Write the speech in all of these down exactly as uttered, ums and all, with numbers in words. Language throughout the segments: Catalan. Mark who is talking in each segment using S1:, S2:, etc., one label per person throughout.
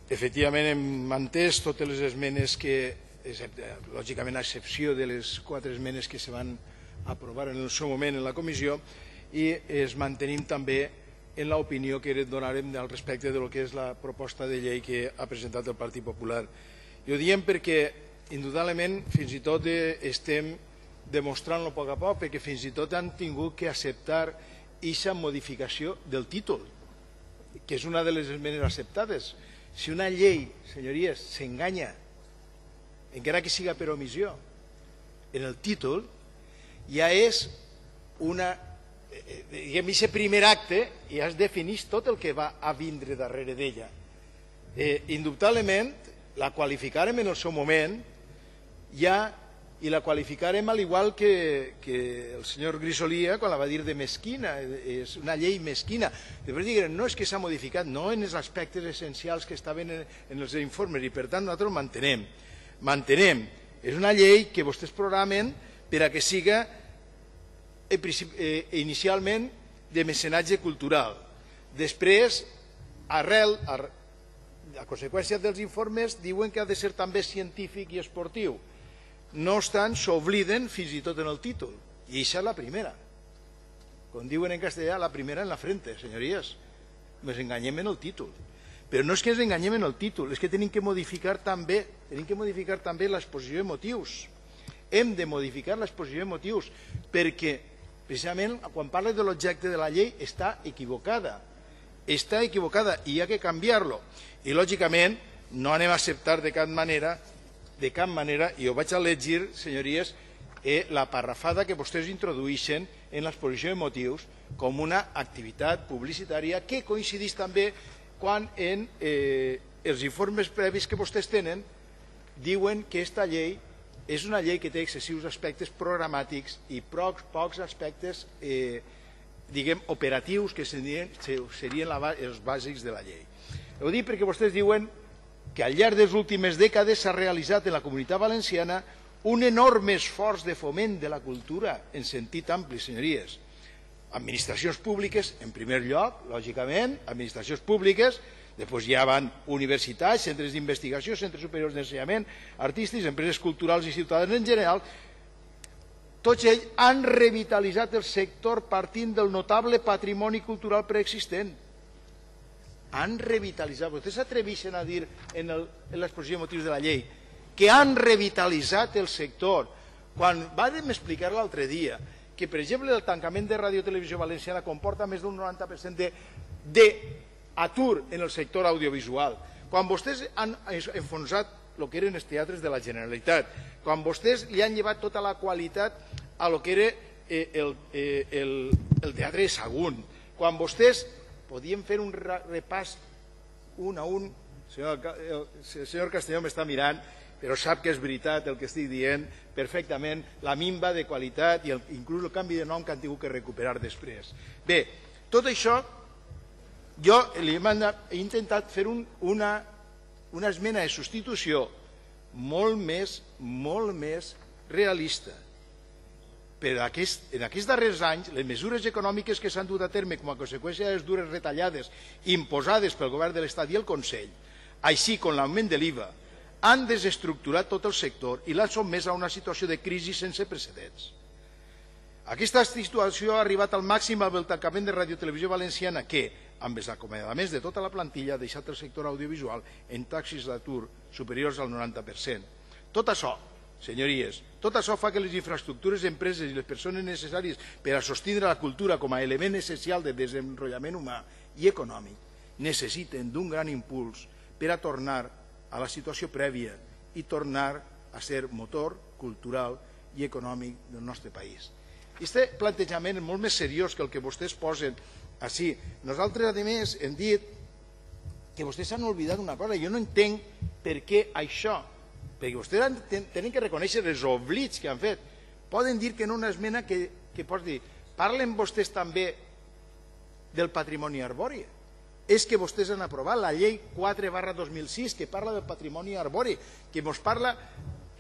S1: efectivament hem entès totes les esmenes que, lògicament a excepció de les quatre esmenes que se van aprovar en el seu moment en la comissió, i es mantenim també en l'opinió que donarem al respecte del que és la proposta de llei que ha presentat el Partit Popular. I ho diem perquè, indudablement, fins i tot estem demostrant-lo a poc a poc, perquè fins i tot han tingut que acceptar aquesta modificació del títol, que és una de les esmenes acceptades. Si una llei, senyories, s'enganya, encara que siga per omissió, en el títol, ja és una... diguem, aquest primer acte ja es defineix tot el que va a vindre darrere d'ella. Indubtablement, la qualificarem en el seu moment ja, i la qualificarem al igual que el senyor Grisolia quan la va dir de mesquina, és una llei mesquina. Després diguem, no és que s'ha modificat, no en els aspectes essencials que estaven en els informes, i per tant nosaltres ho mantenem. Mantenem. És una llei que vostès programen per a que siga inicialment de mecenatge cultural. Després, arrel, a conseqüència dels informes, diuen que ha de ser també científic i esportiu. No obstant, s'obliden fins i tot en el títol. I això és la primera. Com diuen en castellà, la primera en la frente, senyories. Ens enganyem en el títol. Però no és que ens enganyem en el títol, és que tenim que modificar també tenim que modificar també l'exposició de motius. Hem de modificar l'exposició de motius perquè, precisament, quan parla de l'objecte de la llei, està equivocada. Està equivocada i hi ha que canviar-lo. I, lògicament, no anem a acceptar de cap manera, de cap manera, i ho vaig a llegir, senyories, la parrafada que vostès introdueixen en l'exposició de motius com una activitat publicitària que coincideix també quan en els informes previs que vostès tenen diuen que aquesta llei és una llei que té excessius aspectes programàtics i pocs aspectes, diguem, operatius que serien els bàsics de la llei. Ho dic perquè vostès diuen que al llarg de les últimes dècades s'ha realitzat en la Comunitat Valenciana un enorme esforç de foment de la cultura en sentit ampli, senyories. Administracions públiques, en primer lloc, lògicament, administracions públiques, després ja van universitats, centres d'investigació, centres superiors d'ensenyament, artístics, empreses culturals i ciutadans en general. Tots ells han revitalitzat el sector partint del notable patrimoni cultural preexistent. Han revitalitzat. Vostès s'atreveixen a dir en l'exposició de motius de la llei que han revitalitzat el sector. Quan vam explicar l'altre dia que, per exemple, el tancament de Ràdio Televisió Valenciana comporta més d'un noranta per cent d'atur en el sector audiovisual, quan vostès han enfonsat el que eren els teatres de la Generalitat, quan vostès li han llevat tota la qualitat a lo que era el teatre de Sagunt, quan vostès podien fer un repàs un a un, el senyor Castelló m'està mirant, però sap que és veritat el que estic dient perfectament, la minva de qualitat i inclús el canvi de nom que han tingut que recuperar després. Bé, tot això jo he intentat fer una esmena de substitució molt més molt més realista. Però en aquests darrers anys, les mesures econòmiques que s'han dut a terme com a conseqüència de les dures retallades imposades pel govern de l'Estat i el Consell, així com l'augment de l'I V A, han desestructurat tot el sector i l'han sotmès a una situació de crisi sense precedents. Aquesta situació ha arribat al màxim amb el tancament de Ràdio Televisió Valenciana que, amb els acomiadaments de tota la plantilla, ha deixat el sector audiovisual en taxes d'atur superiors al noranta per cent. Tot això, senyories, tot això fa que les infraestructures, empreses i les persones necessàries per a sostindre la cultura com a element essencial de desenvolupament humà i econòmic necessiten d'un gran impuls per a tornar a la situació prèvia i tornar a ser motor cultural i econòmic del nostre país. Aquest plantejament és molt més seriós que el que vostès posen així. Nosaltres, a més, hem dit que vostès s'han oblidat una cosa. Jo no entenc per què això, perquè vostès tenen que reconèixer els oblits que han fet. Poden dir que no una esmena que pots dir, parlen vostès també del patrimoni arbori. És que vostès han aprovat la llei quatre barra dos mil sis que parla del patrimoni arbori, que ens parla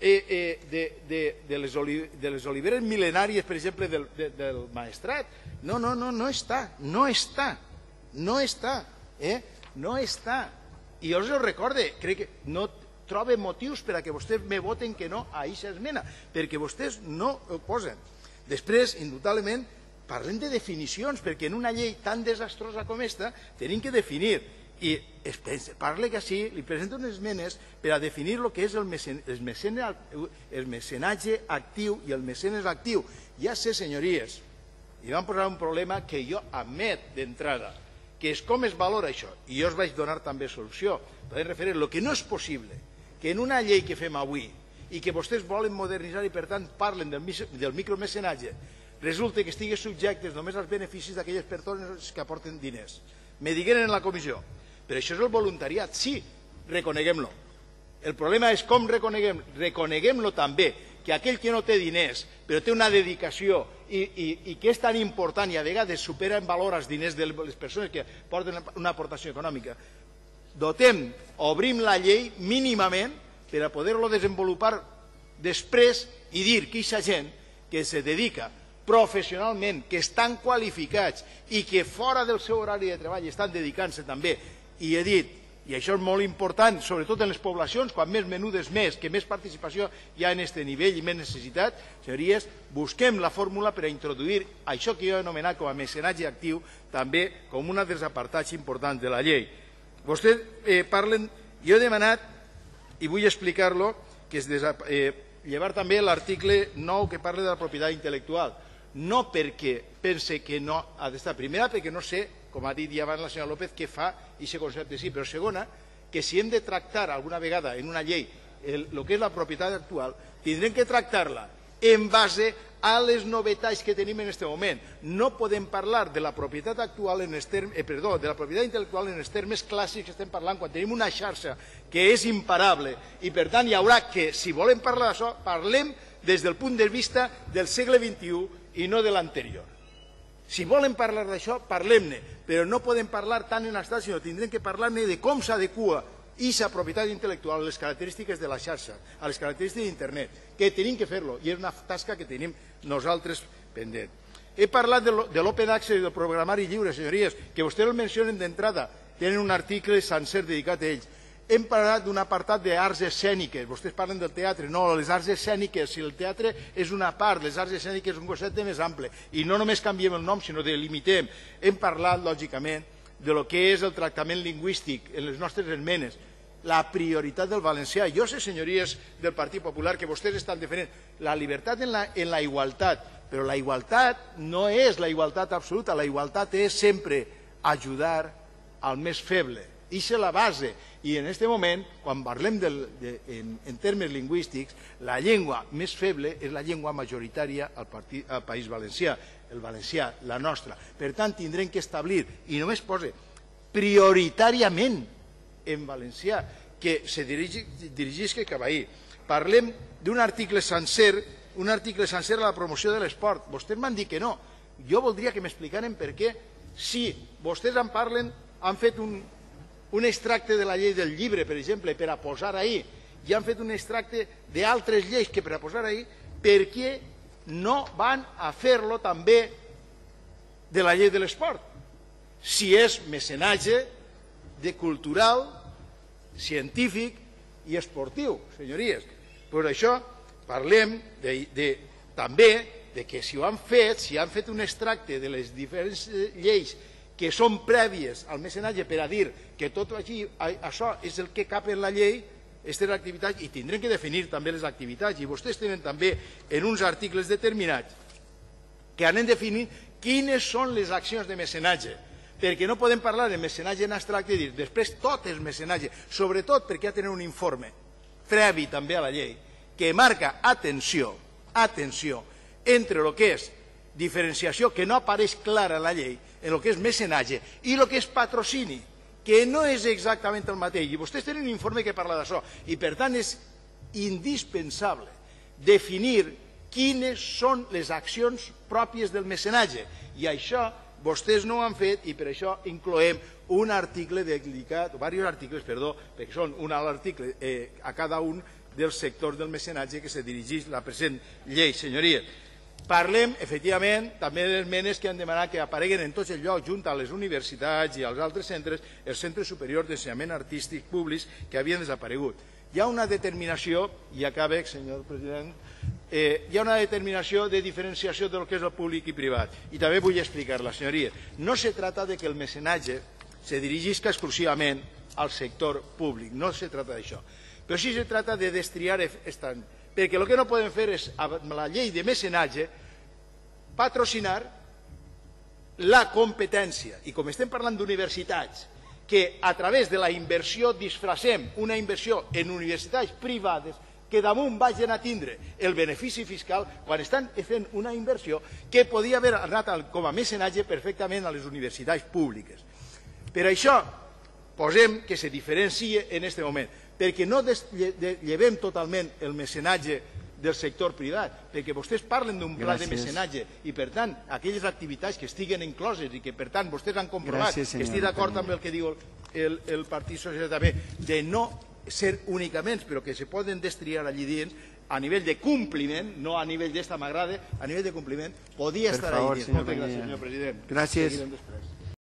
S1: de les oliveres mil·lenàries, per exemple, del Maestrat. No, no, no, no està, no està, no està, no està. I jo us ho recorde, crec que no trobe motius per a que vostès me voten que no a aquesta esmena, perquè vostès no ho posen. Després, indubtablement, parlem de definicions, perquè en una llei tan desastrosa com aquesta tenim que definir. I parla que sí, li presento unes esmenes per a definir el que és el mecenatge actiu i el mecenes actiu. Ja sé, senyories, i van posar un problema que jo admet d'entrada, que és com es valora això, i jo us vaig donar també solució. Podem referir, el que no és possible, que en una llei que fem avui i que vostès volen modernitzar i per tant parlen del micromecenatge, resulta que estigui subjectes només als beneficis d'aquelles persones que aporten diners. Me digueren en la comissió, però això és el voluntariat, sí, reconeguem-lo. El problema és com reconeguem, reconeguem-lo també, que aquell que no té diners, però té una dedicació i, i, i que és tan important i a vegades supera en valor els diners de les persones que porten una aportació econòmica, dotem, obrim la llei mínimament per a poder-lo desenvolupar després i dir que aquesta gent que se dedica professionalment, que estan qualificats i que fora del seu horari de treball estan dedicant-se també, i he dit, i això és molt important, sobretot en les poblacions, quan més menudes més, que més participació hi ha en aquest nivell i més necessitat, senyories, busquem la fórmula per a introduir això que jo he anomenat com a mecenatge actiu també com un dels apartats importants de la llei. Vostès eh, parlen, jo he demanat, i vull explicar-lo, que es eh, llevar també l'article nou que parla de la propietat intel·lectual. No perquè pense que no ha d'estar. Primera, perquè no sé, com ha dit ja abans la senyora López, què fa aquest concepte sí. Però segona, que si hem de tractar alguna vegada en una llei el, el que és la propietat actual, tindrem que tractar-la en base a les novetats que tenim en aquest moment. No podem parlar de la propietat actual en els termes, eh, perdó, de la propietat intel·lectual en els termes clàssics que estem parlant quan tenim una xarxa que és imparable i per tant hi haurà que, si volem parlar d'això, parlem des del punt de vista del segle vint-i-u i no de l'anterior. Si volen parlar d'això, parlem-ne, però no podem parlar tant en estat, sinó tindrem que parlar-ne de com s'adequa aquesta propietat intel·lectual a les característiques de la xarxa, a les característiques d'internet, que tenim que fer-lo, i és una tasca que tenim nosaltres pendent. He parlat de l'open access i del programari lliure, senyories, que vostès el mencionen d'entrada, tenen un article sencer dedicat a ells. Hem parlat d'un apartat d'arts escèniques, vostès parlen del teatre, no, les arts escèniques, si el teatre és una part, les arts escèniques és un concepte més ample, i no només canviem el nom, sinó delimitem. Hem parlat, lògicament, de lo que és el tractament lingüístic en les nostres esmenes, la prioritat del valencià. Jo sé, senyories del Partit Popular, que vostès estan defendent la llibertat en la, en la igualtat, però la igualtat no és la igualtat absoluta, la igualtat és sempre ajudar al més feble. Ixa és la base. I en aquest moment, quan parlem del, de, en, en termes lingüístics, la llengua més feble és la llengua majoritària al, partit, al País Valencià, el valencià, la nostra. Per tant, tindrem que establir, i només posa prioritàriament en valencià, que se dirigi, dirigisca cap ahí. Parlem d'un article sencer, un article sencer a la promoció de l'esport. Vostès m'han dit que no. Jo voldria que m'explicaren per què, si vostès en parlen, han fet un un extracte de la llei del llibre, per exemple, per a posar ahí, i han fet un extracte d'altres lleis que per a posar ahí, per què no van a fer-lo també de la llei de l'esport? Si és mecenatge de cultural, científic i esportiu, senyories. Per això parlem de, de, també de que si ho han fet, si han fet un extracte de les diferents lleis que són prèvies al mecenatge per a dir que tot aquí, això és el que cap en la llei, aquestes activitats, i tindrem que definir també les activitats, i vostès tenen també en uns articles determinats que anem definint quines són les accions de mecenatge, perquè no podem parlar de mecenatge en abstracte i dir després tot és mecenatge, sobretot perquè ha de tenir un informe previ també a la llei que marca, atenció, atenció, entre el que és diferenciació que no apareix clara a la llei, en el que és mecenatge i el que és patrocini, que no és exactament el mateix. I vostès tenen un informe que parla d'això. I per tant és indispensable definir quines són les accions pròpies del mecenatge. I això vostès no ho han fet i per això incloem un article dedicat, o diversos articles, perdó, perquè són un alt article eh, a cada un dels sectors del mecenatge que se dirigeix la present llei, senyories. Parlem, efectivament, també d'esmenes que han demanat que apareguen en tots els llocs, junt a les universitats i als altres centres, els centres superiors d'ensenyament artístic públics que havien desaparegut. Hi ha una determinació, i acabe, senyor president, eh, hi ha una determinació de diferenciació del que és el públic i privat. I també vull explicar-la, senyoria. No se trata de que el mecenatge se dirigisca exclusivament al sector públic, no se trata d'això. Però sí se trata de destriar estant, perquè el que no podem fer és, amb la llei de mecenatge, patrocinar la competència. I com estem parlant d'universitats, que a través de la inversió disfracem una inversió en universitats privades que damunt vagin a tindre el benefici fiscal quan estan fent una inversió que podia haver anat com a mecenatge perfectament a les universitats públiques. Per això posem que se diferencie en aquest moment, perquè no llevem totalment el mecenatge del sector privat, perquè vostès parlen d'un pla de mecenatge i, per tant, aquelles activitats que estiguen incloses i que, per tant, vostès han comprovat que estic d'acord amb el que diu el Partit Socialista també, de no ser únicament, però que se poden destriar allí dins, a nivell de compliment, no a nivell d'esta m'agrada, a nivell de compliment, podia estar allí dins. Moltes gràcies, senyor president.
S2: Gràcies.